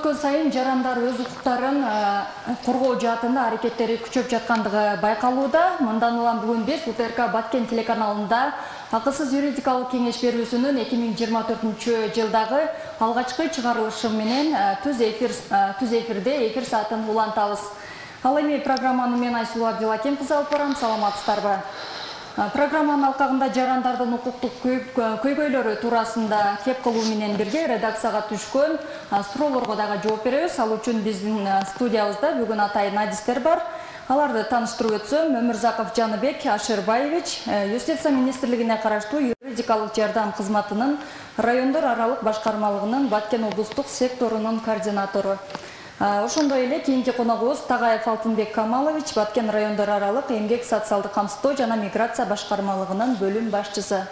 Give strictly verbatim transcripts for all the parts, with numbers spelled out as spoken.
өткөн сайын жарандар өз укуктарын коргоо жаатында аракеттери күчөп жаткандыгы байкалууда. Мындан улам бүгүн биз У Т Р К Баткен телеканалында акысыз юридикалык кеңеш берүүсүнүн эки миң жыйырма төртүнчү жылдагы алгачкы чыгарылышы менен түз эфир түз эфирде эфир саатын улантабыз. Ал эми программаны мен Айсулуу Абдилаким кызы алып барам. Саламатсыздарбы? Программанын алкагында жарандардын укуктук көйгөйлөрү туурасында кеп кылуу менен бирге редакцияга түшкөн суроолорго дагы жооп беребиз. Ал үчүн биздин студиябызда бүгүн атайын адистер бар. Аларды тааныштырып өтсөм, Өмүрзаков Жаныбек Ашырбаевич, Юстиция министрлигине караштуу юридикалык жардам кызматынын райондор аралык башкармалыгынын Баткен облустук секторунун координатору. Ошондой эле кийинки коногубуз Тагаев Алтынбек Камалович, Баткен райондор аралык эмгек социалдык камсыздоо жана миграция башкармалыгынын бөлүм башчысы.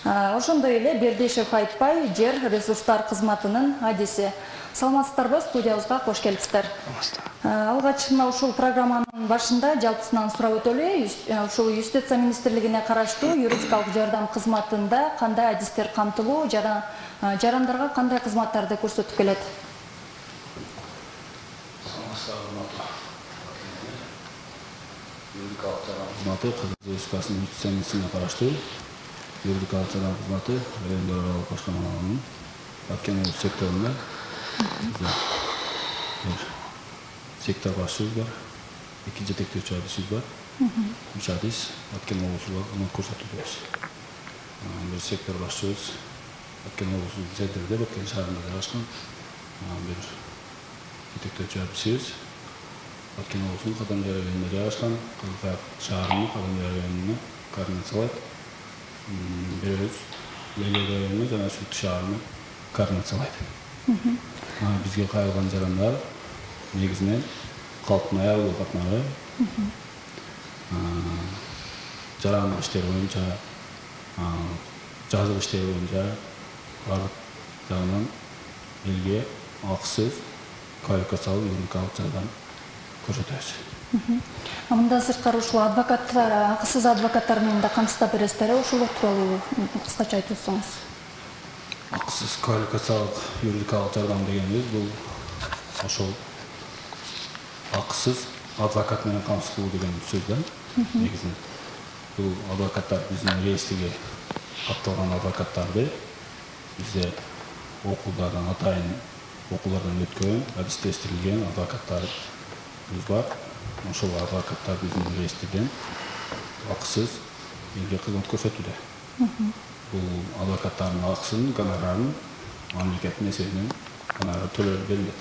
Ошондой эле Бердешев Айтпай, жер ресурстар кызматынын адиси. Саламатсыздарбы? Студиябызга кош келипсиздер. Алгач мына ушул программанын башында жалпысынан сурап өтөлү. Ушул Юстиция министрлигине караштуу юридикалык жардам кызматында кандай адистер камтылуу жана жарандарга кандай кызматтарды көрсөтүп келет? Юридикалык жардам кызматы Кыргыз Республикасынын Юстиция министрлигине караштуу юридикалык жардам кызматы райондор аралык башкармалыгынын Баткен облустук секторунда сектор башчыбыз бар, эки жетектөөчү адисибиз бар. Үч адис Баткен облустуга кызмат көрсөтүбүз. Бир сектор башчыбыз Баткен облустунун центринде, Баткен шаарында жайгашкан. Бир жетектөөчү адисибиз Баткен облусунун Кадамжай районунда жайгашкан, Кызылкаяк шаарынын Кадамжай районуна координациялайт. Бирөөбүз Легер районуна жана Сүт шаарына координациялайт. Бизге кайрылган жарандар негизинен калктын аялдуу катмары, жарандык иштер боюнча, жазык иштер боюнча бардык жагынан элге акысыз квалификациялуу юридикалык жардам көрсөтөбүз. Мындан сырткары ушул адвокаттар, акысыз адвокаттар менен да камсыздап бересиздер. Ушул тууралуу кыскача айтып өтсөңүз. Акысыз квалификациялык юридикалык жардам дегенибиз бул ошол акысыз адвокат менен камсыз кылуу деген сөз да. Негизинен бул адвокаттар биздин реестриге катталган адвокаттарды бизде окуулдардан атайын окуулардан өткөн, адистештирилген адвокаттарыбыз бар. Ошол адвокаттар биздин реестрден акысыз элге кызмат көрсөтүүдө. Бул адвокаттардын акысын, гонорарын мамлекеттин эсебинен гонорар төлөп берилет.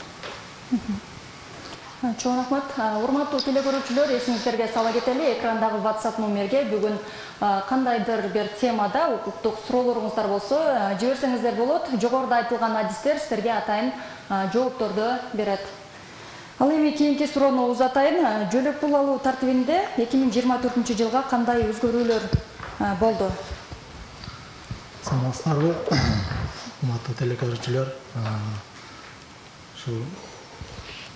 Чоң рахмат. Урматтуу телекөрүүчүлөр, эсиңиздерге сала кетели, экрандагы WhatsApp номерге бүгүн кандайдыр бир темада укуктук суроолоруңуздар болсо, жиберсеңиздер болот. Жогоруда айтылган адистер сиздерге атайын жоопторду берет. Ал эми кийинки суроону узатайын. Жөлөк пул алуу тартибинде эки миң жыйырма төртүнчү жылга кандай өзгөрүүлөр болду? Саламатсыздарбы, урматтуу телекөрүүчүлөр. Ушул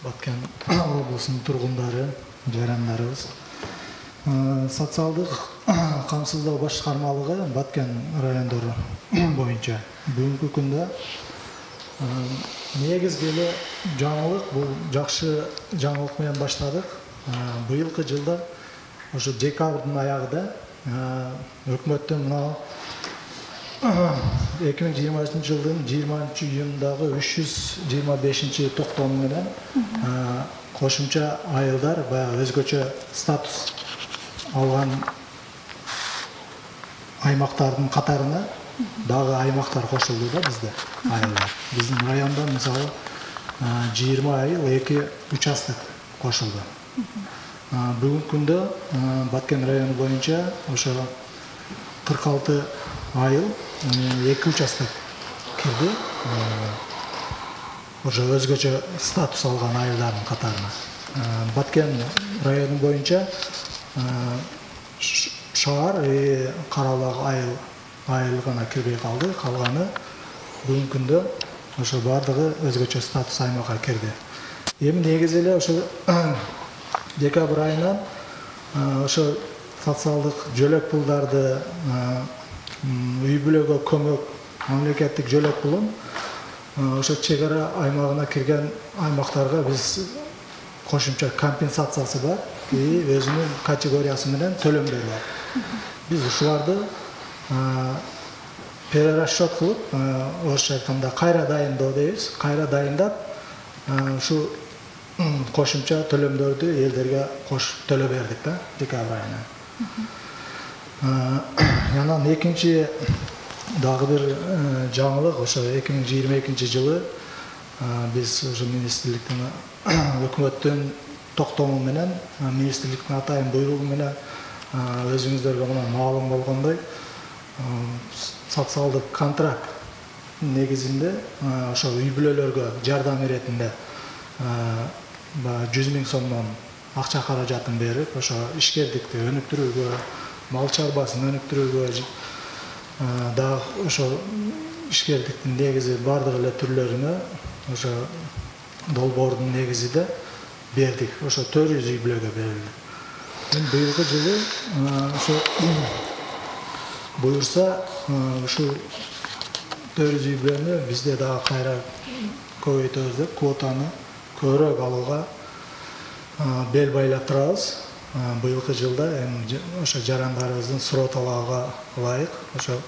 Баткен облусунун тургундары, жарандарыбыз. Социалдык камсыздоо башкармалыгы Баткен райондору боюнча бүгүнкү күндө негизги эле жаңылык, бул жакшы жаңылык менен баштадык. Быйылкы жылда ошо декабрдын аягында өкмөттөн мына эки миң жыйырма үчүнчү жылдын жыйырманчы июндагы үч жүз жыйырма бешинчи токтому менен кошумча айылдар баягы өзгөчө статус алган аймактардын катарына дагы аймактар кошулду да бизде айылдар. Биздин районда мисалы жыйырма айыл, эки участок кошулду. Бүгүнкү күндө Баткен району боюнча ошо кырк алты айыл, эки участок кирди. Ошо өзгөчө статус алган айылдардын катарына. Баткен району боюнча шаар и Карабак айыл айыл гана кирбей калды. Калганы бүгүнкү күндө ошо бардыгы өзгөчө статус аймакка кирди. Эми негизи эле ошо декабрь айынан ошо социалдык жөлөк пулдарды үй бүлөгө көмөк мамлекеттик жөлөк пулун ошо чек ара аймагына кирген аймактарга биз кошумча компенсациясы бар, өзүнүн категориясы менен төлөмдөр бар. Биз ушуларды перерасчет кылып, орусча айтканда кайра дайындоо дейбиз. Кайра дайындап, ушу кошумча төлөмдөрдү элдерге кошуп төлөп бердик да, декабрь айына. Анан экинчи дагы бир жаңылык, ошо эки миң жыйырма экинчи жылы биз уже министрликтин өкмөттүн токтому менен, министрликтин атайын буйругу менен өзүңүздөргө мына маалым болгондой социалдык контракт негизинде ошо үй бүлөлөргө жардам иретинде жүз миң сомдон акча каражатын берип, ошо ишкердикти өнүктүрүүгө, мал чарбасын өнүктүрүүгө, дагы ошо ишкердиктин негизи бардык эле түрлөрүнө ошо долбоордун негизинде бердик. Ошо төрт жүз үй бүлөгө берилди. Быйылкы жылы ошо буюрса ушу төрт жүз үй бүлөнү бизде дагы кайра көбөйтөбүз деп квотаны көбүрөөк алууга бел байлап турабыз. Быйылкы жылда ошо жарандарыбыздын суроо талабыга ылайык, ошо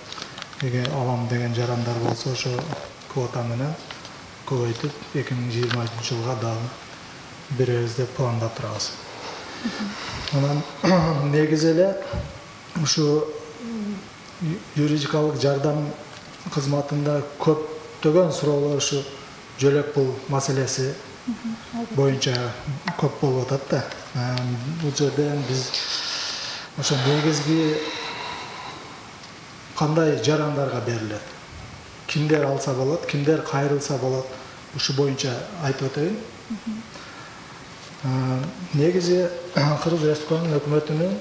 алам деген жарандар болсо ошо квота менен көбөйтүп эки миң жыйырманчы жылга дагы беребиз деп пландап турабыз. Анан негизи эле ушу юридикалык жардам кызматында көптөгөн суроолор ушу жөлөк пул маселеси боюнча көп болуп атат да. Бул жерден биз ошо негизги кандай жарандарга берилет, кимдер алса болот, кимдер кайрылса болот, ушу боюнча айтып өтөйүн. Негизи Кыргыз Республикасынын өкмөтүнүн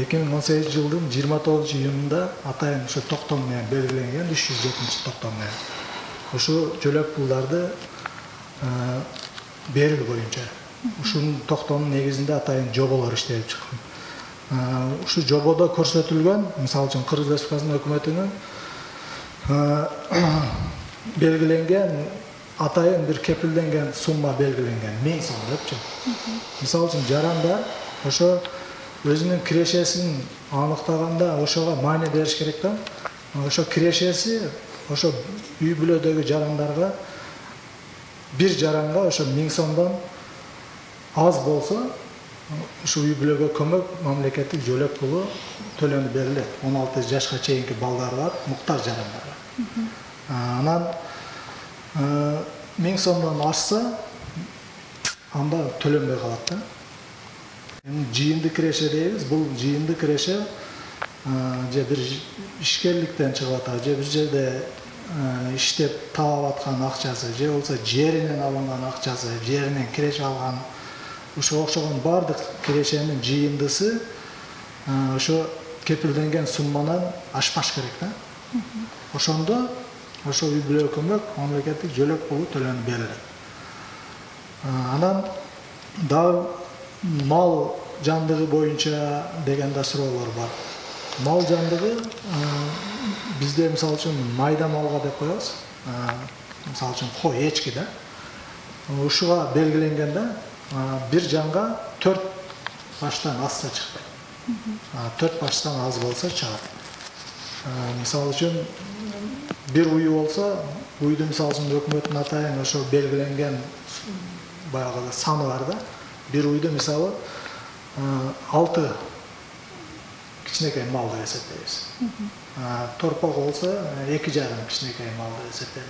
эки миң он сегизинчи жылдын жыйырма тогузунчу июнунда атайын ошо токтом менен белгиленген үч жүз жетинчи токтом менен ушу жөлөк пулдарды берүү боюнча ушунун токтомунун негизинде атайын жоболор иштелип чыккан. Ушу жободо көрсөтүлгөн, мисалы үчүн Кыргыз Республикасынын өкмөтүнүн белгиленген атайын бир кепилденген сумма белгиленген, миң сом депчи. Мисалы үчүн жарандар ошо өзүнүн кирешесин аныктаганда ошого маани бериш керек да. Ошо кирешеси ошо үй бүлөдөгү жарандарга бир жаранга ошо миң сомдон аз болсо, ушу үй бүлөгө көмөк мамлекеттик жөлөк пулу төлөнүп берилет. он алты жашка чейинки балдары бар муктаж жарандарга. Анан миң сомдон ашса, анда төлөнбөй калат да. Жыйынды киреше дейбиз. Бул жыйынды киреше же бир ишкерликтен чыгып атат, же бир жерде иштеп таап аткан акчасы, же болсо жеринен алынган акчасы, жеринен киреше алган, ошо окшогон бардык кирешенин жыйындысы ошо кепилденген сумманан ашпаш керек да. Ошондо ошо үй бүлөгө көмөк мамлекеттик жөлөк пулу төлөнүп берилет. Анан дагы мал жандыгы боюнча деген да суроолор бар. Мал жандыгы бизде мисалы үчүн майда малга деп коебуз. Мисалы үчүн кой, эчки да. Ушуга белгиленген да, бир жанга төрт баштан азса чыкпайт. төрт баштан аз болсо чыгат. Мисалы үчүн бир уй болсо, уйду мисалы үчүн өкмөттүн атайын ошо белгиленген баягы саны бар да. Бир уйду мисалы алты кичинекей мал деп эсептейбиз. Торпок болсо эки жарым кичинекей мал деп эсептелет.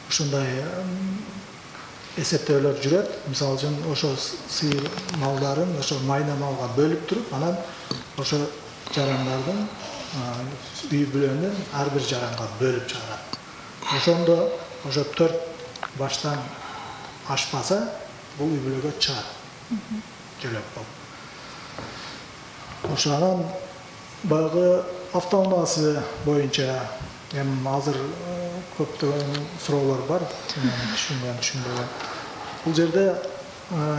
Ушундай эсептөөлөр жүрөт. Мисалы үчүн ошо сыйыр малдарын ошо майда малга бөлүп туруп, анан ошо жарандардын үй бүлөнүн ар бир жаранга бөлүп чыгарат. Ошондо ошо төрт баштан ашпаса, бул үй бүлөгө чыгат. Жөлөк болуп. Ошо анан баягы автоунаасы боюнча эми азыр көптөгөн суроолор бар, түшүнгөн, түшүнбөгөн. Бул жерде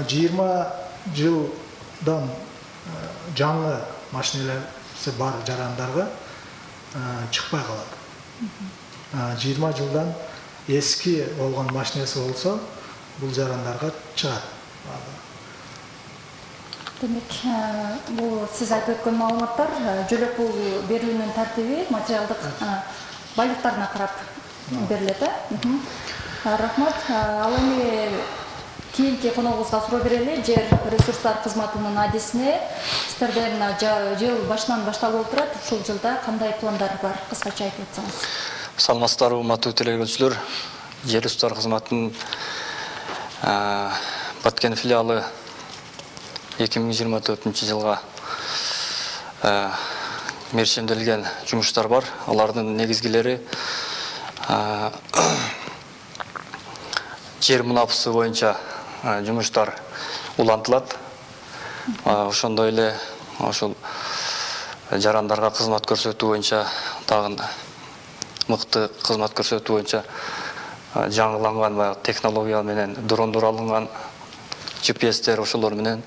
жыйырма жылдан жаңы машинелери бар жарандарга чыкпай калат. жыйырма жылдан эски болгон машинеси болсо бул жарандарга чыгат. Демек, бул сиз айтып өткөн маалыматтар жөлөк пул берүүнүн тартиби материалдык байлыктарына карап берилет, э? Рахмат. Ал эми кийинки коногубузга суроо берели. Жер ресурстар кызматынын адисине сиздерден жыл башынан башталып отурат. Ушул жылда кандай пландар бар? Кыскача айтып өтсөңүз. Саламатсыздарбы, урматтуу телегөрүүчүлөр. Жер ресурстар кызматынын Баткен филиалы эки миң жыйырма төртүнчү жылга мерчемделген жумуштар бар. Алардын негизгилери жер мунапысы боюнча жумуштар улантылат. Ошондой эле ошол жарандарга кызмат көрсөтүү боюнча тагын мыкты кызмат көрсөтүү боюнча жаңыланган баягы технология менен дрондор алынган Джи Пи Эстер ошолор менен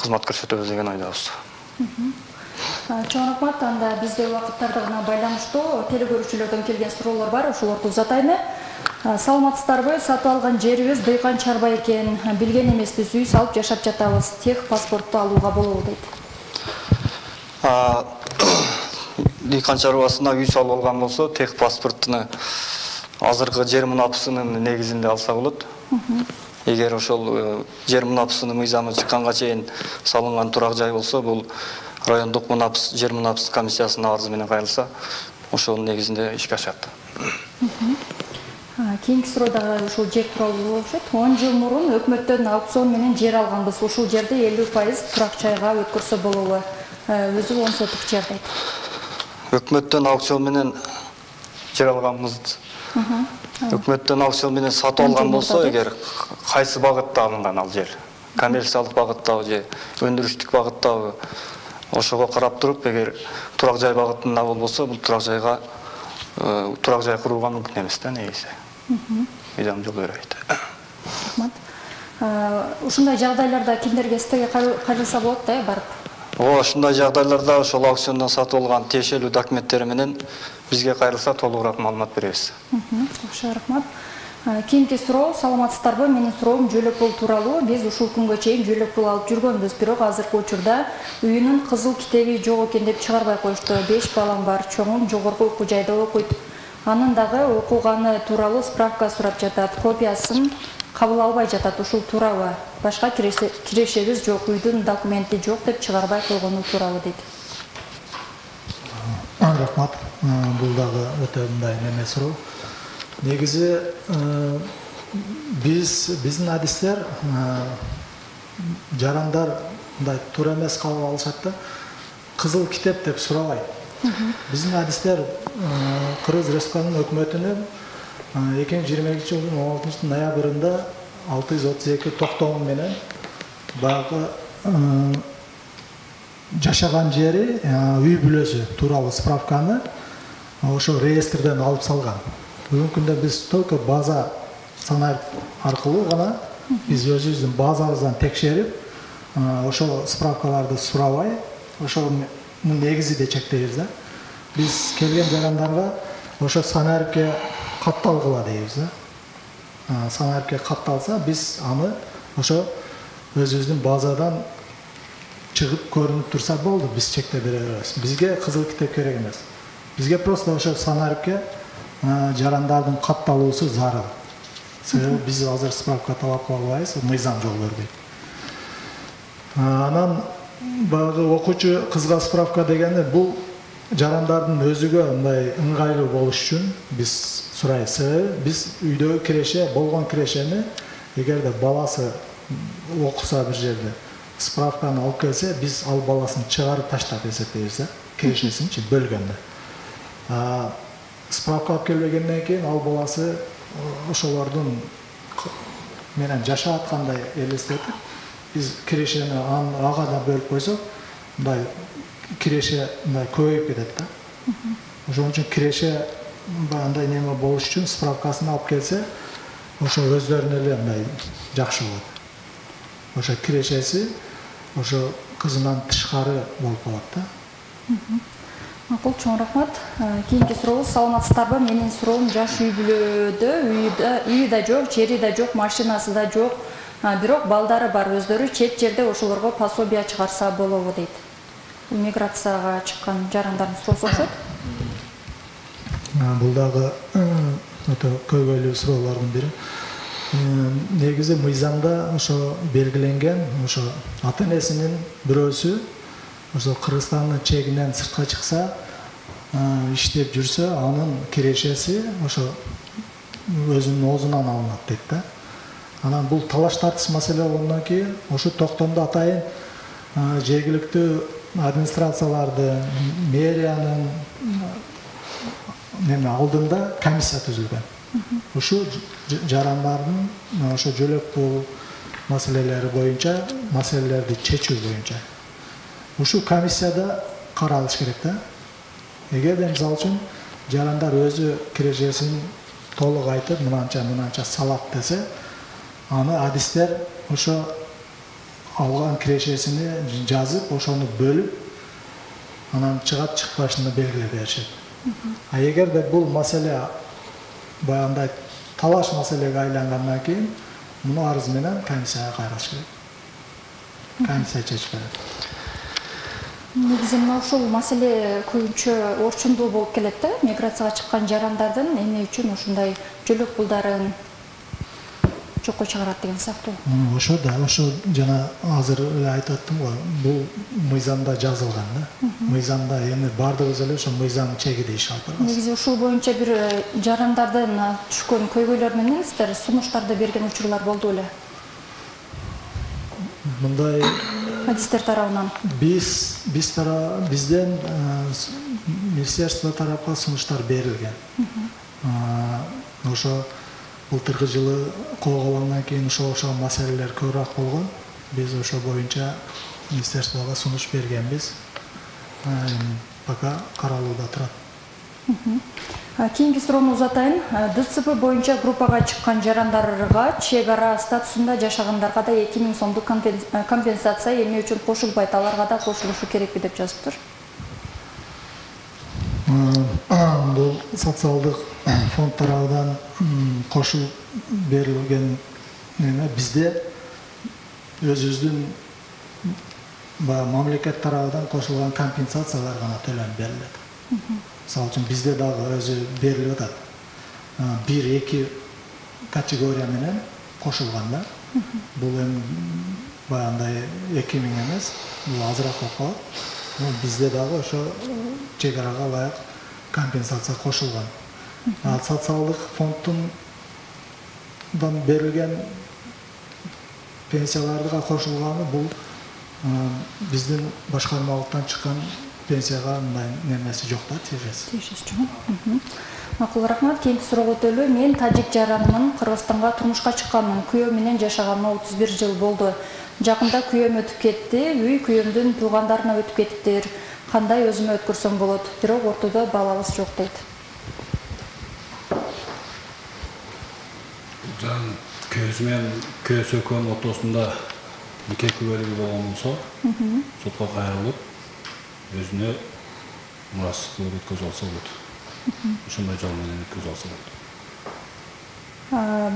кызмат көрсөтөбүз деген ойдобуз. Чоң рахмат. Анда бизде убакыттардыгына байланыштуу телегөрүүчүлөрдөн келген суроолор бар. Ошолорду узатайын. Саламатсыздарбы? Сатып алган жерибиз дыйкан чарба экен. Билген эмеспиз, үй салып жашап жатабыз. Тех паспортту алууга болобу дейт. Дыйкан чарбасына үй салып алган болсо, тех паспортуну азыркы жер мунапысынын негизинде алса болот. Эгер ошол жер мунапысынын мыйзамы чыкканга чейин салынган турак жай болсо, бул райондук мунапыс жер мунапыс комиссиясына арыз менен кайрылса, ошонун негизинде ишке ашат. Кийинки суроо дагы ушул жер тууралуу болуп атат. он жыл мурун өкмөттөн аукцион менен жер алганбыз. Ушул жерди элүү пайыз турак жайга өткөрсө болобу? Өзү он сотук жер дейт. Өкмөттөн аукцион менен жер алганбыз. Өкмөттөн аукцион менен сатып алган болсо, эгер кайсы багытта алынган ал жер, коммерциялык багыттабы же өндүрүштүк багыттабы, ошого карап туруп, эгер турак жай багытында болбосо, бул турак жайга турак жай курууга мүмкүн эмес да негизи. Мыйзам жол бербейт. Рахмат. Ушундай жагдайларда кимдерге сизге кайрылса болот да, барып? О, ушундай жагдайларда ошол аукциондон сатып алган тиешелүү документтери менен бизге кайрылса толугураак маалымат беребиз. Жакшы, рахмат. Кийинки суроо, саламатсыздарбы? Менин суроом жөлөк пул тууралуу. Биз ушул күнгө чейин жөлөк пул алып жүргөнбүз, бирок азыркы учурда үйүнүн кызыл китеби жок экен деп чыгарбай коюшту. беш балам бар, чоңум жогорку окуу жайда окуйт. Анын дагы окуганы тууралуу справка сурап жатат. Копиясын кабыл албай жатат. Ушул туурабы? Башка кирешебиз жок, үйдүн документи жок деп чыгарбай койгону туурабы дейт. Рахмат. Бул дагы өтө мындай неме суроо. Негизи биз биздин адистер жарандар мындай туура эмес кабыл алышат да, кызыл китеп деп сурабайт. Биздин адистер Кыргыз Республикасынын өкмөтүнүн эки миң жыйырма экинчи жылдын он алтынчы ноябрында алты жүз отуз эки токтому менен баягы жашаган жери, үй бүлөсү тууралуу справканы ошо реестрден алып салган. Бүгүнкү күндө биз только база санайып аркылуу гана биз өзүбүздүн базабыздан текшерип, ошол справкаларды сурабай, ошонун негизинде чектейбиз да. Биз келген жарандарга ошо санарипке катталгыла дейбиз да. Санарипке катталса, биз аны ошо өзүбүздүн базадан чыгып көрүнүп турса болду, биз чектеп бере беребиз. Бизге кызыл китеп керек эмес. Бизге просто ошо санарипке жарандардын катталуусу зарыл. Себеби биз азыр справка талап кыла албайбыз, мыйзам жол бербейт. Анан баягы окуучу кызга справка дегенде бул жарандардын өзүгө мындай ыңгайлуу болуш үчүн биз сурайбыз. Себеби биз үйдөгү киреше, болгон кирешени эгерде баласы окуса бир жерде справканы алып келсе, биз ал баласын чыгарып таштап эсептейбиз да, кирешесинчи бөлгөндө. Справка алып келбегенден кийин ал баласы ошолордун менен жашап аткандай элестетип, биз кирешени ага да бөлүп койсок, мындай киреше мындай көбөйүп кетет да. Ошон үчүн киреше андай неме болуш үчүн справкасын алып келсе, ошо өздөрүнө эле мындай жакшы болот. Ошо кирешеси ошо кызынан тышкары болуп калат да. Макул, чоң рахмат. Кийинки сурообуз саламатсыздарбы? Менин суроом жаш үй бүлөдө үйү да жок, жери да жок, машинасы да жок. Бирок балдары бар, өздөрү чет жерде ошолорго пособие чыгарса болобу дейт. Миграцияга чыккан жарандардын суроосу окшойт. Бул дагы өтө көйгөйлүү суроолордун бири. Негизи мыйзамда ошо белгиленген, ошо ата энесинин бирөөсү ошо Кыргызстандын чегинен сыртка чыкса, иштеп жүрсө, анын кирешеси ошо өзүнүн оозунан алынат дейт да. Анан бул талаш тартыш маселе болгондон кийин ошо токтомдо атайын жергиликтүү администрацияларды, мэриянын неме алдында комиссия түзүлгөн. Ушу жарандардын ошо жөлөк пул маселелери боюнча, маселелерди чечүү боюнча. Ушу комиссияда каралыш керек да. Эгерде мисалы үчүн жарандар өзү кирешесин толук айтып, мынанча мынанча салат десе, аны адистер ошо алган кирешесини жазып, ошону бөлүп, анан чыгат чыкпашын белгилеп беришет. А эгерде бул маселе баягындай талаш маселеге айлангандан кийин муну арыз менен комиссияга кайрылыш керек. Комиссия чечип берет. Негизи мына ушул маселе көбүнчө орчундуу болуп келет да. Миграцияга чыккан жарандардын эмне үчүн ушундай жөлөк пулдарын жокко чыгарат деген сыяктуу. Ошо да, ошо жана азыр эле айтып аттым го, бул мыйзамда жазылган да. Мыйзамда эми бардыгыбыз эле ошо мыйзам чеги дейиш алып барабыз. Негизи ушул боюнча бир жарандардын түшкөн көйгөйлөр менен сиздер сунуштарды берген учурлар болду эле. Мындай адистер тарабынан биз биз тара бизден министерство тарапка сунуштар берилген. Ошо былтыркы жылы колго алынгандан кийин ошо ошол маселелер көбүрөөк болгон. Биз ошо боюнча министерствого сунуш бергенбиз. Пока каралууда турат. Кийинки суроону узатайын. ДЦП боюнча группага чыккан жарандарга чек ара статусунда жашагандарга да эки миң сомдук компенсация эмне үчүн кошулбайт, аларга да кошулушу керекпи деп жазыптыр. Бул социалдык фонд тарабынан кошулуп берилген неме бизде өзүбүздүн баягы мамлекет тарабынан кошулган компенсациялар гана төлөнүп берилет. Мисалы үчүн бизде дагы өзү берилип атат. бир эки категория менен кошулган да. Бул эми баягындай эки миң эмес, бул азыраак болуп калат. Бизде дагы ошо чек арага ылайык компенсация кошулган. Социалдык фонддун берилген пенсияларга кошулганы бул биздин башкармалыктан чыккан пенсияга мындай немеси жок да, тиешеси. Тиешеси жок. Макул, рахмат. Кийинки суроого өтөлү. Мен тажик жаранмын, Кыргызстанга турмушка чыкканмын. Күйөөм менен жашаганыма отуз бир жыл болду. Жакында күйөөм өтүп кетти, үй күйөөмдүн туугандарына өтүп кетиптир. Кандай өзүмө өткөрсөм болот? Бирок ортодо балабыз жок дейт. Жан күйөөсү менен күйөөсү экөөнүн ортосунда нике күбөлүгү болгон болсо, сотко кайрылып, өзүнө мурас кылып өткөзүп алса болот. Ошондой жол менен өткөзүп алса болот.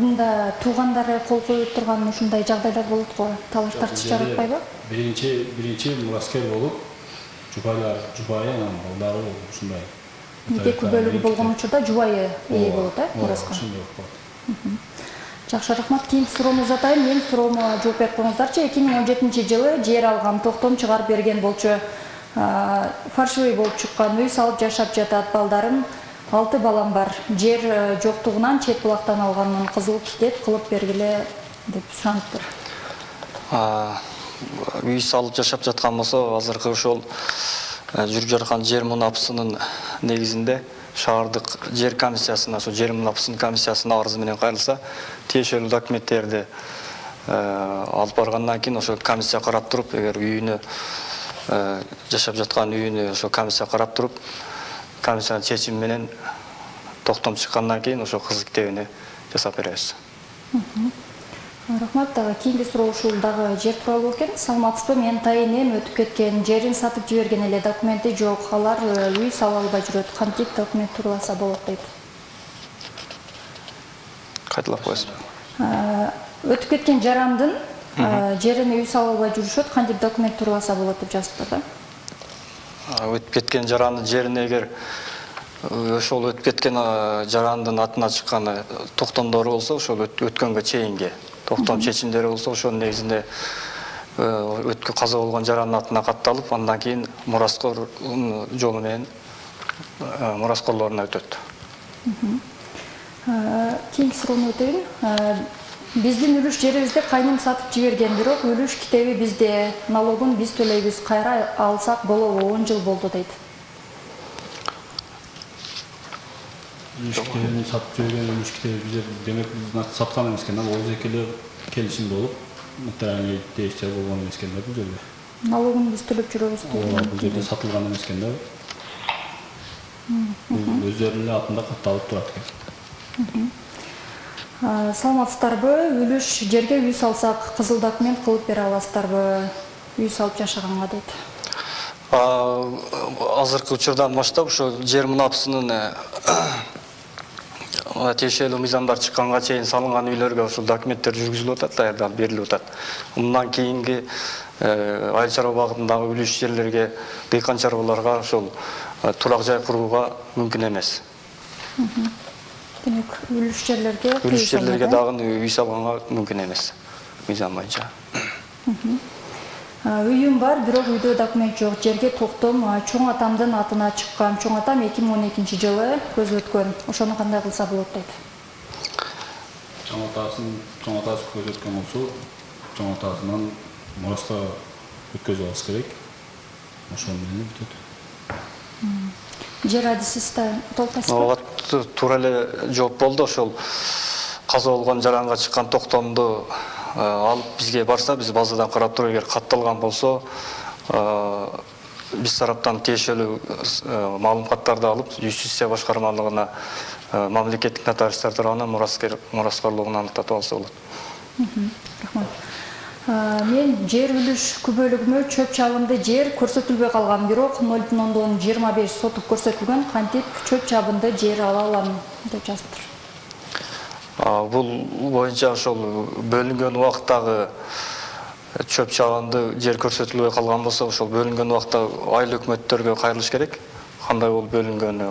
Мында туугандары кол коюп турган ушундай жагдайлар болот го. Талаш тартыш жаратпайбы? Биринчи биринчи мураскер болуп, жубайлар, жубайы анан балдары ушундай. Нике күбөлүгү болгон учурда жубайы ээ болот, э, мураска. Ошондой болот. Жакшы, рахмат. Кийинки суроону узатайын. Мен суроомо жооп берип коюңуздарчы. эки миң он жетинчи жылы жер алгам, токтом чыгарып берген болчу. Фаршивый болуп чыккан, үй салып жашап жатат, балдарым, алты балам бар. Жер жоктугунан чет булактан алганмын, кызыл китеп кылып бергиле деп сураныптыр. Үй салып жашап жаткан болсо, азыркы ошол жүрүп жаткан жер мунапысынын негизинде шаардык жер комиссиясына, ошо жер мунапысынын комиссиясына арыз менен кайрылса, тиешелүү документтерди алып баргандан кийин ошо комиссия карап туруп, эгер үйүнө жашап жаткан үйүнө ошо комиссия карап туруп, комиссиянын чечими менен токтом чыккандан кийин ошо кызыл китебине жасап беребиз. Рахмат. Кийинки суроо ушул дагы жер тууралуу экен. Саламатсызбы? Мен тайынем өтүп кеткен, жерин сатып жиберген эле, документи жок. Алар үй сала албай жүрөт. Кантип документ туураласа болот дейт. Кайталап коесузбу? Өтүп кеткен жарандын жерине үй сала албай жүрүшөт. Кантип документ туураласа болот деп жазыптыр да. Өтүп кеткен жарандын жерине эгер ошол өтүп кеткен жарандын атына чыккан токтомдору болсо, ошол өткөнгө чейинги токтом чечимдери болсо, ошонун негизинде өткө каза болгон жарандын атына катталып, андан кийин мураскор жолу менен мураскорлоруна өтөт. Кийинки суроону өтөйүн. Биздин үлүш жерибизди кайным сатып жиберген, бирок үлүш китеби бизде, налогун биз төлөйбүз. Кайра алсак болобу? он жыл болду дейт. Үлүш китебин сатып жиберген, үлүш китеби бизде, демек биз саткан эмес экен, ал экеле келишим болуп, нотариальный действие болгон эмес экен да бул жерде. Налогун биз төлөп жүрөбүз дейт. Бул жерде сатылган эмес экен да. Бул өздөрүнүн атында катталып турат экен. Саламатсыздарбы? Үлүш жерге үй салсак, кызыл документ кылып бере аласыздарбы? Үй салып жашаганга дейт. Азыркы учурдан баштап ошо жер мунапысынын тиешелүү мыйзамдар чыкканга чейин салынган үйлөргө ошол документтер жүргүзүлүп атат, даярдалып берилип атат. Мындан кийинки айыл чарба багытындагы үлүш жерлерге, дыйкан чарбаларга ошол турак жай курууга мүмкүн эмес. Демек, үлүш жерлерге үлүш жерлерге дагы үй салганга мүмкүн эмес. Мыйзам боюнча. Үйүм бар, бирок үйдө документ жок. Жерге токтом чоң атамдын атына чыккан. Чоң атам эки миң он экинчи жылы көз өткөн. Ошону кандай кылса болот дейт. Чоң атасын, чоң атасы көз өткөн болсо, чоң атасынан мураска өткөзүп алыш керек. Ошол менен бүтөт. Жер адисиста толтойсузбу? Ооба, туура эле жооп болду. Ошол каза болгон жаранга чыккан токтомду алып бизге барса, биз базадан карап туруп, эгер катталган болсо, биз тараптан тиешелүү маалыматтарды алып, юстиция башкармалыгына, мамлекеттик нотариустар тарабынан мураскорлугун аныктатып алса болот. Рахмат. Мен жер үлүш күбөлүгүмө чөп чабынды жер көрсөтүлбөй калган, бирок ноль бүтүн ондон жыйырма беш сотук көрсөтүлгөн. Кантип чөп чабынды жер ала алам деп жазыптыр. Бул боюнча ошол бөлүнгөн убакыттагы чөп чабынды жер көрсөтүлбөй калган болсо, ошол бөлүнгөн убакта айыл өкмөттөргө кайрылыш керек. Кандай болуп бөлүнгөнү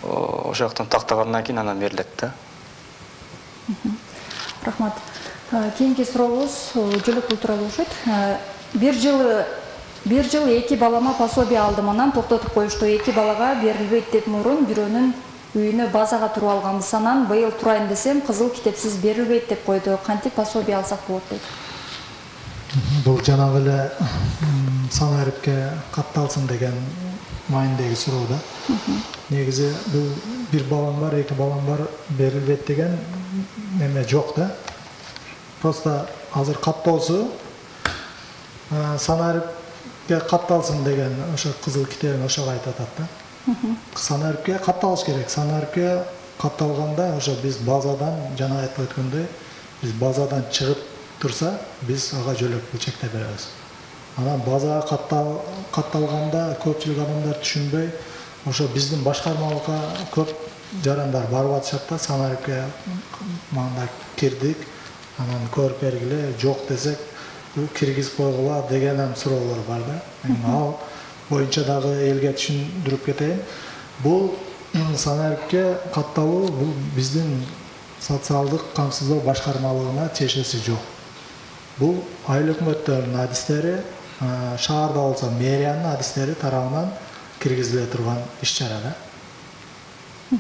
ошол жактан тактагандан кийин анан берилет да. Рахмат. Кийинки сурообуз жөлөкпул тууралуу болушот. Бир жылы бир жыл эки балама пособие алдым, анан токтотуп коюшту. Эки балага берилбейт деп мурун бирөөнүн үйүнө базага туруп алганбыз. Анан быйыл турайын десем, кызыл китепсиз берилбейт деп койду. Кантип пособие алсак болот дейт. Бул жанагы эле санариптке катталсын деген маанидеги суроо да. Негизи бул бир балам бар, эки балам бар, берилбейт деген неме жок да. Просто азыр каттоосу санарипке катталсын деген ошо кызыл китебин ошого айтып атат да. Санарипке катталыш керек. Санарипке катталганда ошо биз базадан, жана айтып өткөндөй, биз базадан чыгып турса, биз ага жөлөкпү чектеп беребиз. Анан базага каттал катталганда көпчүлүк адамдар түшүнбөй, ошо биздин башкармалыкка көп жарандар барып атышат да, санарипке мында кирдик, анан көрүп бергиле, жок десек киргизип койгула деген суроолор бар да. Ал боюнча дагы элге түшүндүрүп кетейин. Бул санарипке катталуу бул биздин социалдык камсыздоо башкармалыгына тиешеси жок. Бул айыл өкмөттөрүнүн адистери, шаарда болсо мэриянын адистери тарабынан киргизиле турган иш-чара да.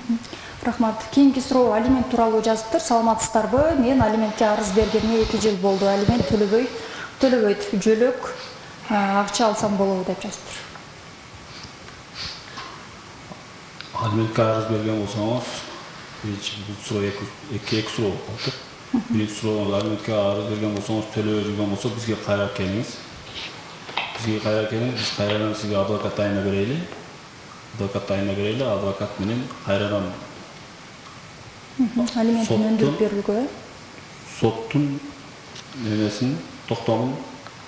Рахмат. Кийинки суроо алимент тууралуу жазыптыр. Саламатсыздарбы? Мен алиментке арыз бергениме эки жыл болду. Алимент төлөбөй төлөбөйт. Жөлөк акча алсам болобу деп жазыптыр. Алиментке арыз берген болсоңуз, бул суроо эки эки суроо болуп. Биринчи суроо, алиментке арыз берген болсоңуз, төлөбөй жүргөн болсо, бизге кайра келиңиз. Бизге кайра келиңиз, биз кайрадан сизге адвокат тайына берели. Адвокат тайына берели, адвокат менен кайрадан алименттин өндүрүп берүүгө соттун немесин токтомун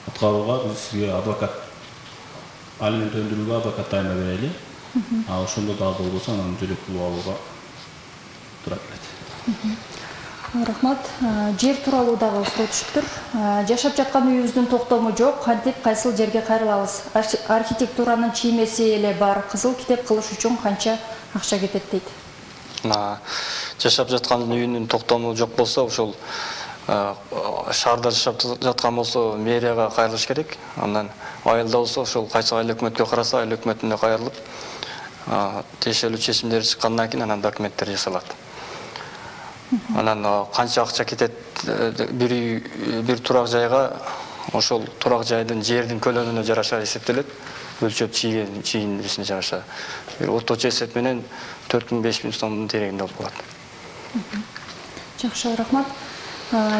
аткарууга биз сизге адвокат алимент өндүрүүгө адвокат дайындап берели. А ошондо дагы болбосо анан жөлөк пул алууга туура келет. Рахмат. Жер тууралуу дагы суроо түшүптүр. Жашап жаткан үйүбүздүн токтому жок, кантип кайсыл жерге кайрылабыз? Архитектуранын чиймеси эле бар, кызыл китеп кылыш үчүн канча акча кетет дейт. Жашап жаткан үйүнүн токтому жок болсо, ошол шаарда жашап жаткан болсо мэрияга кайрылыш керек. Андан айылда болсо ошол кайсы айыл өкмөткө караса, айыл өкмөтүнө кайрылып, тиешелүү чечимдер чыккандан кийин анан документтер жасалат. Анан канча акча кетет бир үй, бир турак жайга, ошол турак жайдын жердин көлөмүнө жараша эсептелет. Өлчөп чийген чийгенисине жараша. Бир орточо эсеп менен төрт миң беш миң сомдун тереңинде болуп калат. Жакшы, рахмат.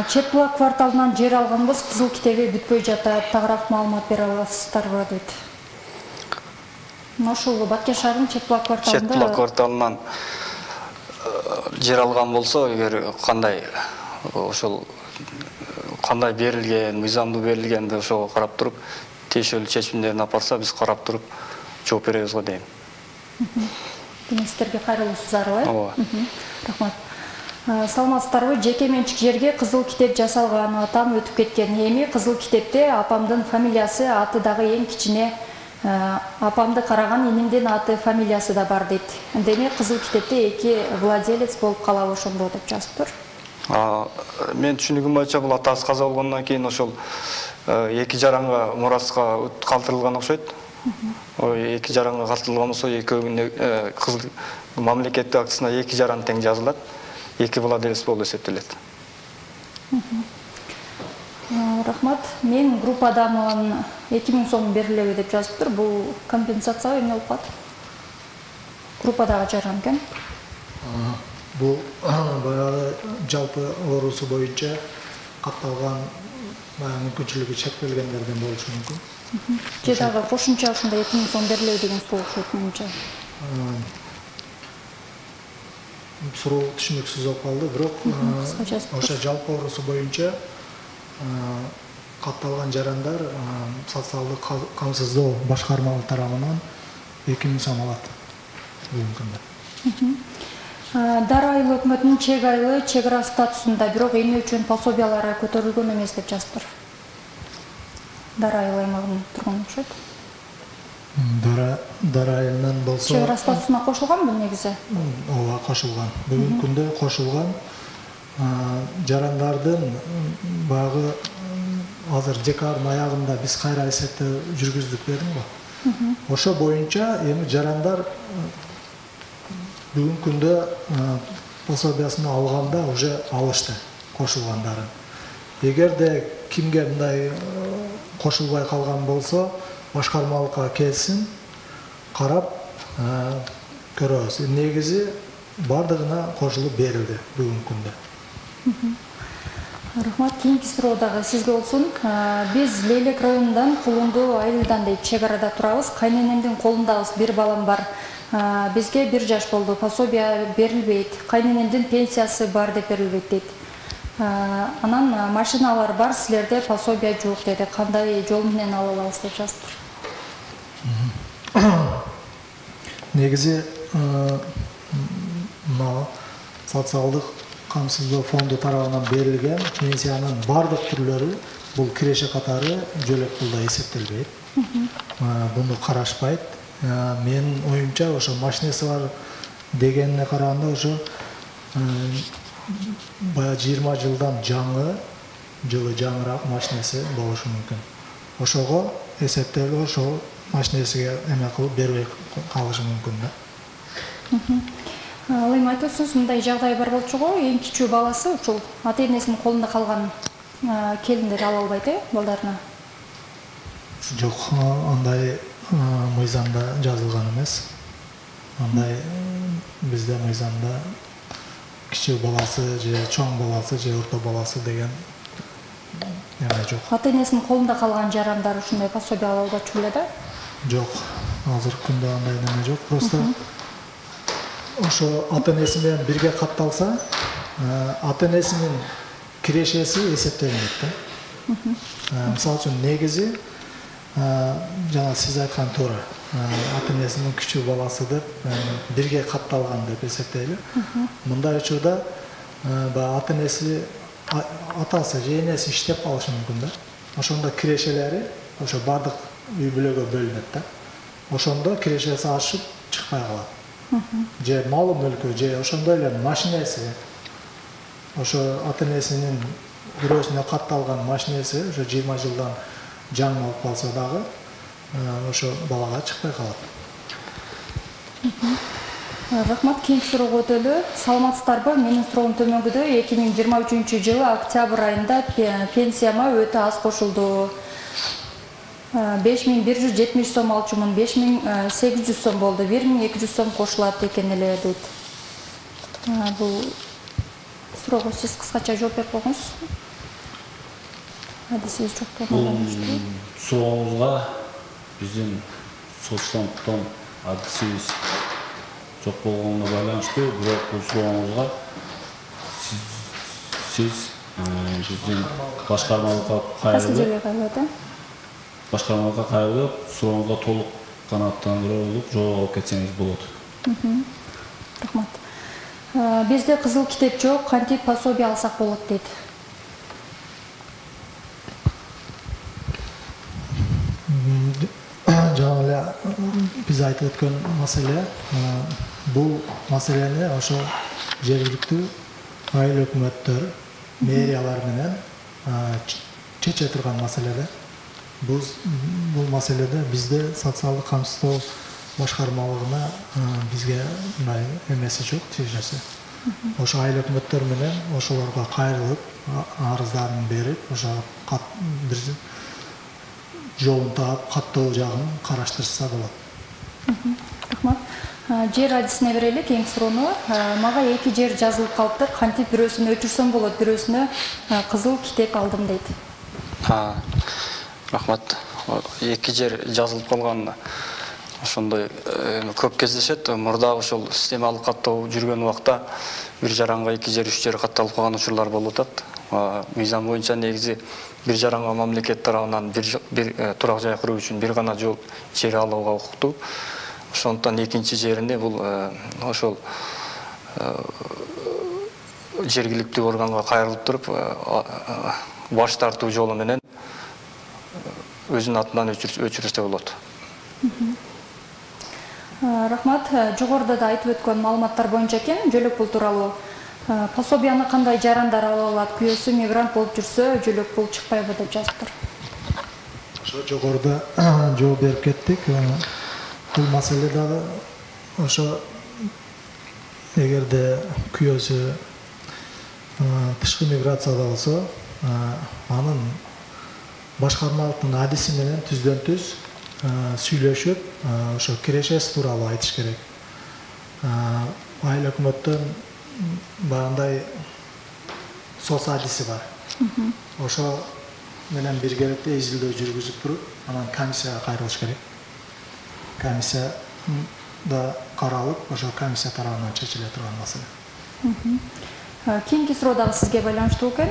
Чет булак кварталынан жер алганбыз, кызыл китеби бүтпөй жатат. Тагыраак маалымат бере аласыздарбы дейт. Ошол Баткен шаарынын Чет булак кварталында Чет булак кварталынан жер алган болсо, эгер кандай ошол кандай берилген, мыйзамдуу берилген ошого карап туруп, тиешелүү чечимдерин алып барса, биз карап туруп жооп беребиз го дейм. Сиздерге кайрылуусуздарбы? Ооба. Рахмат. Саламатсыздарбы? Жеке менчик жерге кызыл китеп жасалган, атам өтүп кеткен. Эми кызыл китепте апамдын фамилиясы, аты дагы эң кичине апамды караган инимдин аты, фамилиясы да бар дейт. Демек кызыл китепте эки владелец болуп калабы ошондо деп жазыптыр. Мен түшүнүгүм боюнча бул атасы каза болгондон кийин ошол эки жаранга мураска калтырылган окшойт. Эки жаранга калтырылган болсо, экөөнүн кызыл мамлекеттик актысына эки жаран тең жазылат. Эки владелец болуп эсептелет. Рахмат. Мен группадамын эки миң сом берилеби деп жазыптыр. Бул компенсацияга эмне болуп калат? Группадагы жаран экен. Бул баягы жалпы оорусу боюнча катталган мүмкүнчүлүгү чектелгендерден болушу мүмкүн. Же дагы кошумча ушундай эки миң сом берилеби деген суроо окшойт менимче. Суроо түшүнүксүз болуп калды, бирок ошо жалпы оорусу боюнча катталган жарандар социалдык камсыздоо башкармалык тарабынан эки миң сом алат бүгүнкү күндө. Дара айыл өкмөтүнүн чек айылы чек ара статусунда, бирок эмне үчүн пособиялары көтөрүлгөн эмес деп жазыптыр. Дара айыл аймагынын тургуну окшойт. Дара Дара айылынан болсо чек ара статусуна кошулганбы негизи? Ооба, кошулган. Бүгүнкү күндө кошулган. Жарандардын баягы азыр декабрдын аягында биз кайра эсептөө жүргүздүк дедим го. Ошо боюнча эми жарандар бүгүнкү күндө пособиясын алганда уже алышты кошулгандарын. Эгерде кимге мындай кошулбай калган болсо, башкармалыкка келсин, карап көрөбүз. Негизи бардыгына кошулуп берилди бүгүнкү күндө. Рахмат. Кийинки суроо дагы сизге болсун. Биз Лейлек районундан Кулунду айылдан дейт чек арада турабыз. Кайненемдин колундабыз, бир балам бар. Бизге бир жаш болду. Пособия берилбейт. Кайненемдин пенсиясы бар деп берилбейт дейт. Анан машиналар бар, силерде пособия жок деди. Кандай жол менен ала алабыз деп жазыптыр. Негизи мына социалдык камсыздоо фонду тарабынан берилген пенсиянын бардык түрлөрү бул киреше катары жөлөк пулда эсептелбейт. Буну карашпайт. Менин оюмча ошо машинеси бар дегенине караганда ошо бая жыйырма жылдан жаңы, жылы жаңыраак машинеси болушу мүмкүн. Ошого эсептелип, ошо машинесиге эме кылып бербей калышы мүмкүн да. Ал эми айтасыз, мындай жагдай бар болчу го, эң кичүү баласы ушул ата-энесинин колунда калган келиндер ала албайт э балдарына? Жок, андай мыйзамда жазылган эмес. Андай бизде мыйзамда кичүү баласы же чоң баласы же орто баласы деген эме жок. Ата-энесинин колунда калган жарандар ушундай пособия ала албачу беле да? Жок, азыркы күндө андай неме жок. Просто ошо ата-энеси менен бирге катталса, ата-энесинин кирешеси эсептелинет да. Мисалы үчүн негизи жана сиз айткан туура, ата энесинин күчү баласы деп бирге катталган деп эсептейли. Мындай учурда ата энеси, атасы же энеси иштеп калышы мүмкүн да. Ошондо кирешелери ошо бардык үй бүлөгө бөлүнөт да. Ошондо кирешеси ашып чыкпай калат. Же малы мүлкү, же ошондой эле машинеси, ошо ата энесинин бирөөсүнө катталган машинеси ошо жыйырма жылдан жаңы болуп калса дагы ошо балага чыкпай калат. Рахмат, кийинки суроого өтөлү. Саламатсыздарбы? Менин суроом төмөнгүдөй. эки миң жыйырма үчүнчү жылы октябрь айында пенсияма өтө аз кошулду. беш миң бир жүз жетимиш сом алчумун, беш миң сегиз жүз сом болду. бир миң эки жүз сом кошулат экен эле дейт. Бул суроого сиз кыскача жооп берип койгуңуз. Адисиз жок болгондо. Сурооңузга биздин соцсанктан адисибиз жок болгонуна байланыштуу, бирок бул сурооңузга сиз биздин башкармалыкка кайрылып, башкармалыкка кайрылып, сурооңузга толук канааттандырылып жооп алып кетсеңиз болот. Рахмат. Бизде кызыл китеп жок, кантип пособие алсак болот дейт. Жана эле биз айтып өткөн маселе, бул маселени ошо жергиликтүү айыл өкмөттөр, мэриялар менен чече турган маселеде. Бул маселеде бизде социалдык камсыздоо башкармалыгына бизге мындай эмеси жок, тиешеси. Ошо айыл өкмөттөр менен ошолорго кайрылып, арыздарын берип, ошо бир жолун таап, каттоо жагын караштырса болот. Рахмат. Жер адисине берели кийинки суроону. Мага эки жер жазылып калыпты, кантип бирөөсүнө өчүрсөм болот, бирөөсүнө кызыл китеп алдым дейт. Рахмат. Эки жер жазылып калган ошондой көп кездешет. Мурда ошол системалык каттоо жүргөн убакта бир жаранга эки жер, үч жер катталып калган учурлар болуп атат. Мыйзам боюнча негизи бир жаранга мамлекет тарабынан бир турак жай куруу үчүн бир гана жол жер алууга укуктуу. Ошондуктан экинчи жерине бул ошол жергиликтүү органга кайрылып туруп баш тартуу жолу менен өзүнүн атынан өчүрүштө болот. Рахмат. Жогоруда да айтып өткөн маалыматтар боюнча экен, жөлөк пул тууралуу. Пособияны кандай жарандар ала алат? Күйөөсү мигрант болуп жүрсө, жөлөк пул чыкпайбы деп жазыптыр. Ошо жогоруда жооп берип кеттик. Бул маселе дагы ошо эгерде күйөөсү тышкы миграцияда болсо, анын башкармалыктын адиси менен түздөн түз сүйлөшүп, ошо кирешеси тууралуу айтыш керек. Айыл өкмөттөн баягындай соц адиси бар. Ошо менен биргеликте изилдөө жүргүзүп туруп, анан комиссияга кайрылыш керек. Комиссия да каралып, ошо комиссия тарабынан чечиле турган маселе. Кийинки суроо дагы сизге байланыштуу экен.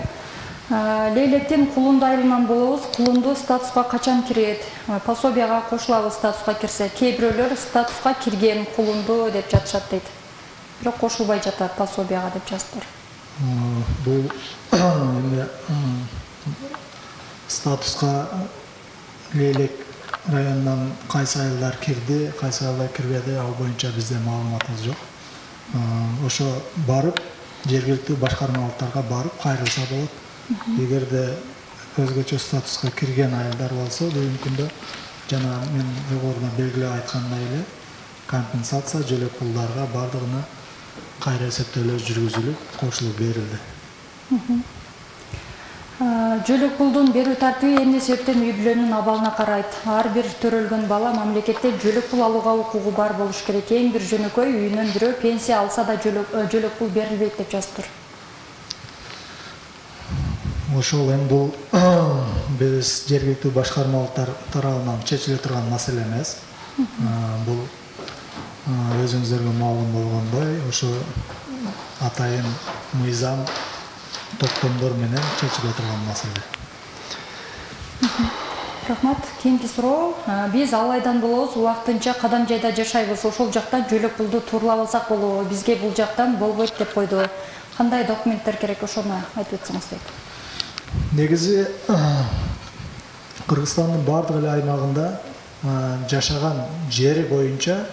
Лейлектен кулунду айылынан болобуз, кулунду статуска качан кирет? Пособияга кошулабыз статуска кирсе. Кээ бирөөлөр статуска кирген кулунду деп жатышат дейт. Бирок кошулбай жатат пособияга деп жазыптыр. Бул эми статуска Лейлек районунан кайсы айылдар кирди, кайсы айылдар кирбеди, ал боюнча бизде маалыматыбыз жок. Ошо барып, жергиликтүү башкармалыктарга барып кайрылса болот. Эгерде өзгөчө статуска кирген айылдар болсо, бүгүнкү күндө жана мен жогоруда белгилеп айткандай эле компенсация жөлөк пулдарга бардыгына кайра эсептөөлөр жүргүзүлүп, кошулуп берилди. Жөлөк пулдун берүү тартиби эмне себептен үй бүлөнүн абалына карайт? Ар бир төрөлгөн бала мамлекетте жөлөк пул алууга укугу бар болуш керек. Эң бир жөнөкөй үйүнөн бирөө пенсия алса да жөлөк пул берилбейт деп жазыптыр. Ошол эми бул биз жергиликтүү башкармалыктар тарабынан чечиле турган маселе эмес. Бул өзүңүздөргө маалым болгондой, ошо атайын мыйзам токтомдор менен чечиле турган маселе. Рахмат. Кийинки суроо. Биз ал айдан болобуз, убактынча кадам жайда жашайбыз. Ошол жактан жөлөк пулду тууралап алсак болобу? Бизге бул жактан болбойт деп койду. Кандай документтер керек, ошону айтып өтсөңүз дейт. Негизи Кыргызстандын бардык эле аймагында жашаган жери боюнча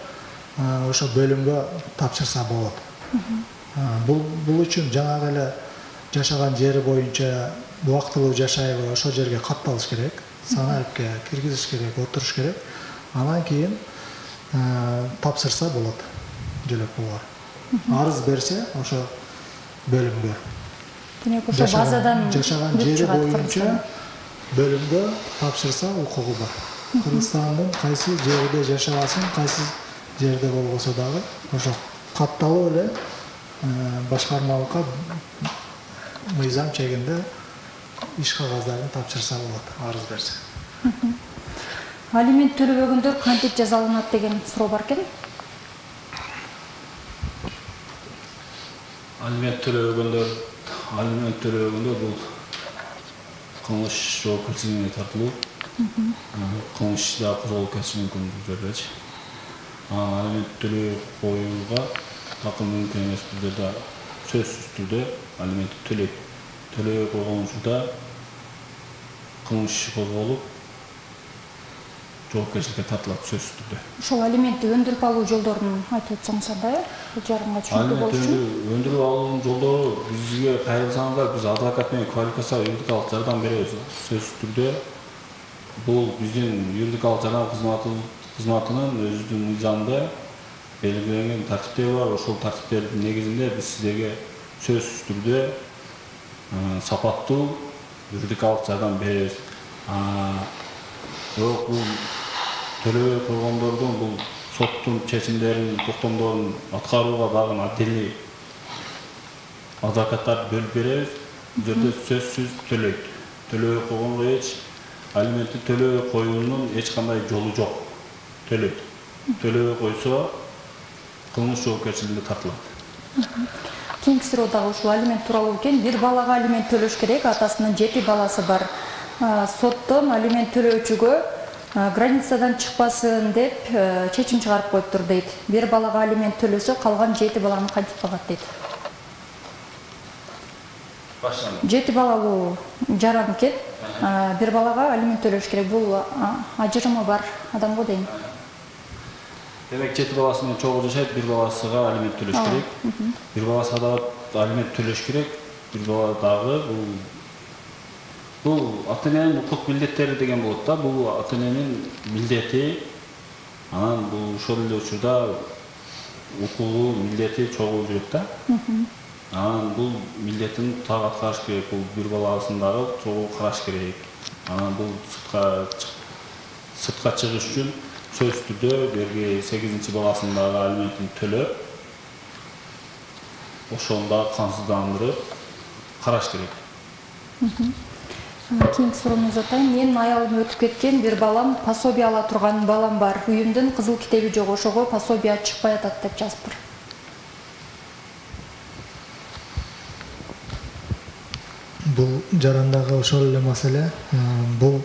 ошо бөлүмгө тапшырса болот. Бул бул үчүн жанагы эле жашаган жери боюнча убактылуу жашайбы, ошол жерге катталыш керек, санаипке киргизиш керек, отуруш керек. Анан кийин тапшырса болот жөлөк пулга. Арыз берсе ошо бөлүмгө. Демек ошо базадан жашаган жери боюнча бөлүмгө тапшырса укугу бар. Кыргызстандын кайсы жерде жашагасын, кайсы жерде болбосо дагы ошо катталып эле башкармалыкка мыйзам чегинде иш кагаздарын тапшырса болот, арыз берсе. Алимент төлөбөгөндөр кантип жазаланат деген суроо бар экен. Алимент төлөбөгөндөр, алимент төлөбөгөндөр бул кылмыш жоопкерчилигине тартылуу. Кылмыш да козголуп кетиши мүмкүн бул жердечи. Алимент төлөй коюуга такыр мүмкүн эмес, бул жерде сөзсүз түрдө алимент төлөйт. Төлөй койгон учурда кылмыш козголуп жоопкерчиликке тартылат сөзсүз түрдө. Ошол алиментти өндүрүп алуу жолдорун айтып өтсөңүз андай, бул жарымга түшүнүктүү болуш үчүн. Өндүрүп алуунун жолдору бизге кайрылсаңыздар, биз адвокат менен квалификациялык юридикалык жардам беребиз. Сөзсүз түрдө бул биздин юридикалык жардам кызматынын өзүнүн мыйзамында белгиленген тартиптери бар. Ошол тартиптердин негизинде биз сиздерге сөзсүз түрдө сапаттуу юридикалык жардам беребиз. Бирок бул төлөбөй койгондордун бул соттун чечимдерин, токтомдорун аткарууга багын отдельный адвокаттарды бөлүп беребиз. Бул жерде сөзсүз төлөйт. Төлөбөй койгонго эч алиментти төлөбөй коюунун эч кандай жолу жок. Төлөйт. Төлөбөй койсо кылмыш жоопкерчилигине тартылат. Кийинки суроо дагы ушул алимент тууралуу экен. Бир балага алимент төлөш керек, атасынын жети баласы бар. Соттон алимент төлөөчүгө границадан чыкпасын деп чечим чыгарып коюптур дейт. Бир балага алимент төлөсө, калган жети баланы кантип багат дейт. Жети балалуу жаран экен. Бир балага алимент төлөш керек. Бул ажырымы бар адам го дейм. Демек жети баласы менен чогуу жашайт, бир баласыга алимент төлөш керек. Бир баласына да алимент төлөш керек. Бир бала дагы бул бул ата-эненин укук милдеттери деген болот да. Бул ата-эненин милдети. Анан бул ошол эле учурда укугу, милдети чогуу жүрөт да. Анан бул милдетин так аткарыш керек. Бул бир баласын дагы чогуу караш керек. Анан бул сыртка сыртка чыгыш үчүн сөзсүз түрдө берги сегизинчи баласын дагы алиментин төлөп, ошону дагы камсыздандырып караш керек. Кийинки суроону атайын. Менин аялым өтүп кеткен, бир балам, пособие ала турган балам бар. Үйүмдүн кызыл китеби жок, ошого пособие чыкпай атат деп жазыптыр. Бул жарандагы ошол эле маселе. Бул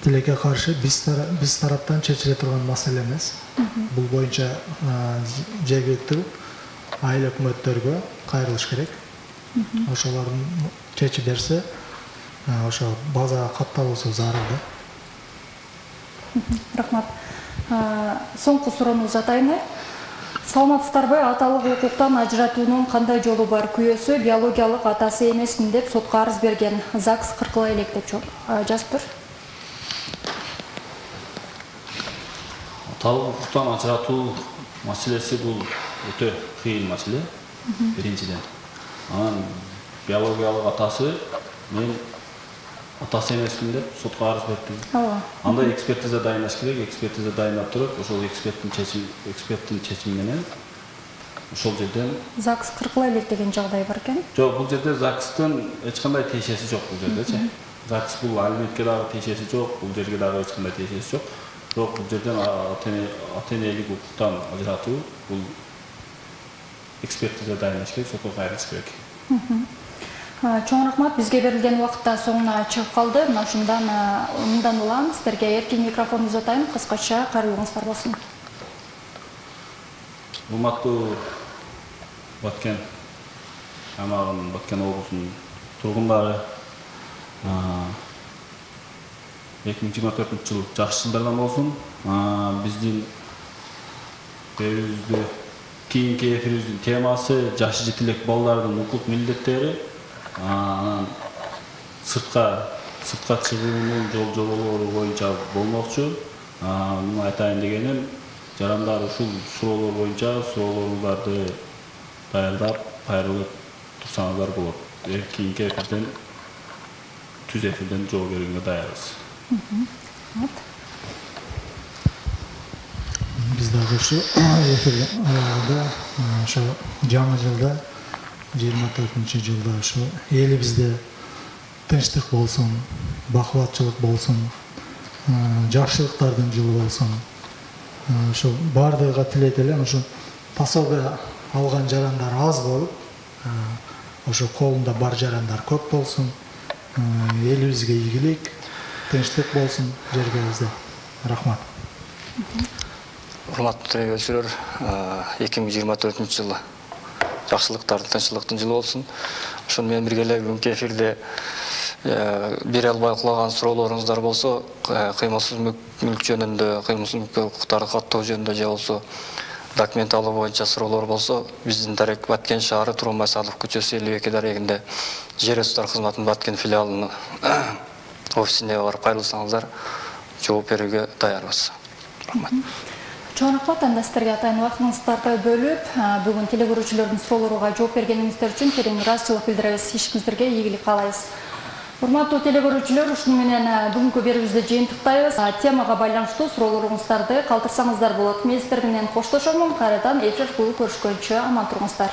тилекке каршы биз биз тараптан чечиле турган маселе эмес. Бул боюнча жергиликтүү айыл өкмөттөргө кайрылыш керек. Ошолордун чечип берсе, ошо базага катталуусу зарыл да. Рахмат. Соңку суроону атайын. Саламатсыздарбы? Аталык укуктан ажыратуунун кандай жолу бар? Күйөөсү биологиялык атасы эмесмин деп сотко арыз берген. ЗАГС кыркыла элек деп жазыптыр. Аталык укуктан ажыратуу маселеси бул өтө кыйын маселе. Биринчиден. Анан биологиялык атасы мен атасы эмесмин деп сотко арыз бердим. Андай экспертиза дайындаш керек, экспертиза дайындап туруп, ошол эксперттин чечими, эксперттин чечими менен ошол жерден ЗАГС кыркыла элек деген жагдай бар экен. Жок, бул жерде ЗАГСтын эч кандай тиешеси жок бул жердечи. ЗАГС бул алиментке дагы тиешеси жок, бул жерге дагы эч кандай тиешеси жок. Бирок бул жерден ата-энелик укуктан ажыратуу бул экспертиза дайындаш керек, сотко кайрылыш керек. Чоң рахмат, бизге берилген убакытта соңуна чыгып калды. Мына ушундан мындан улам сиздерге эркин микрофон узатайм, кыскача кайрылууңуздар болсун. Урматтуу Баткен аймагынын, Баткен облусунун тургундары, эки миң жыйырма төртүнчү жыл жакшы жылдардан болсун. Биздин эфирибизди кийинки эфирибиздин темасы жаш жетилек балдардын укук милдеттери. Анан сыртка сыртка чыгуунун жол жоболору боюнча болмокчу. Муну айтайын дегеним, жарандар ушул суроолор боюнча суроолоруңарды даярдап кайрылып турсаңыздар болот. Кийинки эфирден түз эфирден жооп берүүгө даярбыз. Биз дагы ушу эфир аягында ошо жаңы жылда жыйырма төртүнчү жылда ушу элибизде тынчтык болсун, бакубатчылык болсун, жакшылыктардын жылы болсун. Ошо бардыгыга тилейт элем, ошо пособие алган жарандар аз болуп, ошо колунда бар жарандар көп болсун. Элибизге ийгилик, тынчтык болсун жергебизде. Рахмат. Урматтуу телекөрүүчүлөр, эки миң жыйырма төртүнчү жылы жакшылыктардын, тынччылыктын жылы болсун. Ошону менен бирге эле бүгүнкү эфирде бере албай кулаган суроолоруңуздар болсо, кыймылсыз мүлк жөнүндө, кыймылсыз мүлк укуктарын каттоо жөнүндө же болсо документ алуу боюнча суроолор болсо, биздин дарек Баткен шаары Туурмай Садыков көчөсү элүү эки дарегинде жер ресурстары кызматынын Баткен филиалынын офисине барып кайрылсаңыздар, жооп берүүгө даярбыз. Рахмат. Чоң рахмат, анда сиздерге атайын убактыңыздарды бөлүп, бүгүн телекөрүүчүлөрдүн суроолоруна жооп бергениңиздер үчүн терең ыраазычылык билдиребиз. Ишиңиздерге ийгилик каалайбыз. Урматтуу телекөрүүчүлөр, ушуну менен бүгүнкү берүүбүздү жыйынтыктайбыз. Темага байланыштуу суроолоруңуздарды калтырсаңыздар болот. Мен сиздер менен коштошомун. Кайрадан эфир аркылуу көрүшкөнчө аман туруңуздар.